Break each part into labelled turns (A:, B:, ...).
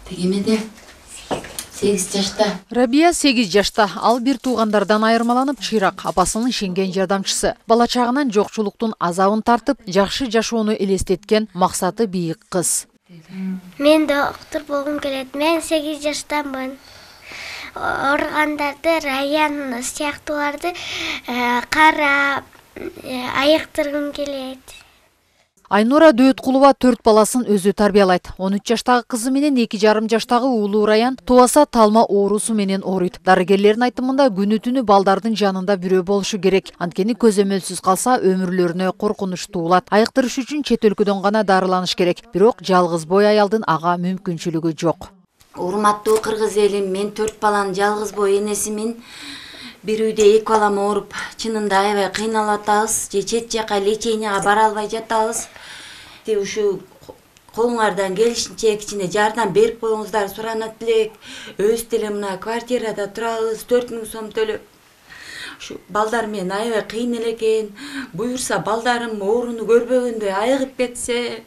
A: Тегемеде 8 жашта.
B: Рабия 8 жашта. Ал бир туугандардан айырмаланып, чыйрак апасынын ишенген жардамчысы. Бала чагынан жокчулуктун азабын тартып, жакшы жашоону элестеткен, максаты бийик кыз.
C: Мен доктор болгум келет. Мен 8 жаштамын. Ооругандарды, район сыяктууларды карап, айыктыргым келет.
B: Айнура Дөөткулова 4 баласын өзү тарбиялайт. 13 жаштагы кызы менен 2,5 жаштагы уулу Раян тубаса талма оорусу менен ооруйт. Дарыгерлердин айтымында күнү түнү балдардын жанында бирөө болушу керек. Анткени көзөмөлсүз калса өмүрлөрүнө коркунуч туулат. Айыктырыш үчүн чет өлкөдөн гана дарыланыш керек. Бирок жалгыз бой аялдын ага мүмкүнчүлүгү жок.
A: Урматтуу кыргыз элим, мен 4 баланын жалгыз бой энесимин. Бир үйдө 2 балам ооруп, чынында аябай кыйналып атабыз. Же чет жака леченияга бара албай жатабыз. Ушу колуңардан келишинче кичине жардам берип коюңуздар суранат элек. Өз деле мына квартирада турабыз, 4000 сом төлөп. Ушу балдар менен аябай кыйын элекен. Буюрса балдарым ооруну көрбөгөндөй айыгып кетсе.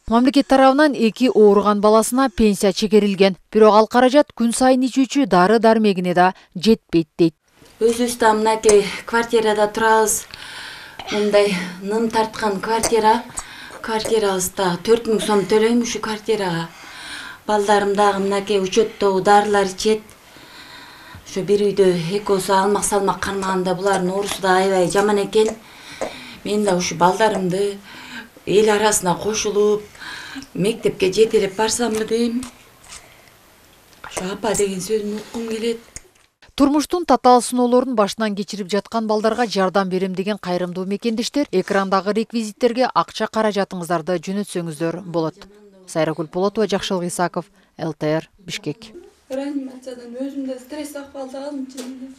B: Мамлекет тарабынан 2 ооруган баласына пенсия чегерилген. Бирок ал каражат күн сайын ичүүчү дары-дармегине да жетпейт дейт.
A: Өзүбүз да мынакей квартирада турабыз. Мындай ным тарткан квартирабызда 4000 сом төлөйм ушу квартирага. Балдарым дагы мынакей учеттогу дарылар ичет. Ошо бир үйдө экөөсү алмак салмак кармаганда булардын оорусу да аябай жаман экен. Мен да ушу балдарымды эл арасына кошулуп, мектепке жетелеп барсамбы дейм. Ошо апа деген сөзүн уккум келет.
B: Турмуштун татаал сыноолорун башынан кечирип жаткан балдарга жардам берем деген кайрымдуу мекендештер экрандагы реквизиттерге акча каражатыңыздарды жөнөтсөңүздөр болот. Сайрагүл Полотова, Жакшылык Исаков, ЛТР, Бишкек.
D: Реанимациядан өзүмдө стресс акыбалда алдым.